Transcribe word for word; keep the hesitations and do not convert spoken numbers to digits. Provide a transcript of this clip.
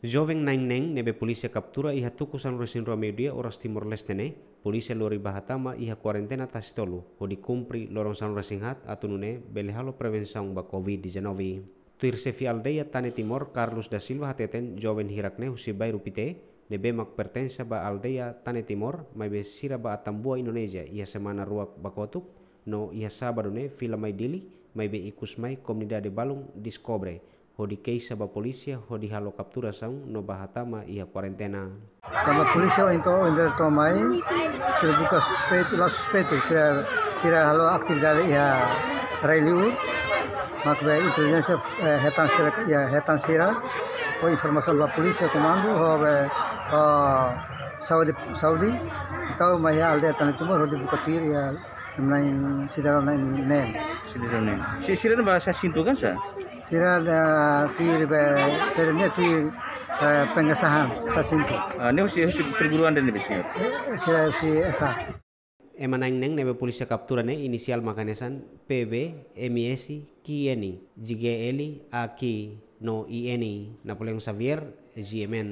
Joven na'in neen ne'ebé polísia kaptura iha tuku sanulu-resin-rua meiudia oras Timor-Leste ne'e, polísia lori bá hatama iha kuarentena tasi tolu, hodi kumpre loron sanulu-resin-haat atu nune'e bele halo prevensaun ba covid dezanove. Tuir xefe aldeia Tane Timor, Carlos da Silva hateten joven hirak ne'e husi bairru Pité, ne'ebé mak pertensa ba aldeia Tane Timor, maibé sira bá Atambua Indonézia iha semana rua ba kotuk, no iha sábadu ne'e fila mai Dili, maibé ikus mai komunidade balun deskobre, hodi keixa ba polísia, hodi halo kapturasaun no bá hatama iha kuarentena. Tanba polísia ohin to'o, ohin to'o mai, sira buka suspeitu, la suspeitu, sira, sira halo atividade iha rai liur, mak be intelijénsia, eh, hetan sira, iha hetan sira, fó informasaun ba polísia komandu, ho be, ho saúde, saúde, entaun mai iha aldeia Tane Timor, hodi buka tuir iha na'in, sidadaun na'in neen. Sidadaun neen. Si, sira ne'e ba sasin tuan ka sá? Sira ne'e tuir be, sira ne'e tuir, eh, pengesahan sasin tuan. Ah, ne'e husi, husi perguruan ida ne'ebé, señór? Eh, sira husi S A. Ema na'in neen ne'ebé polísia kaptura ne'e inisiál mak hanesan P V, M S, Q N, J G L, A Q, no I N. Napoleão Xavier, G M N.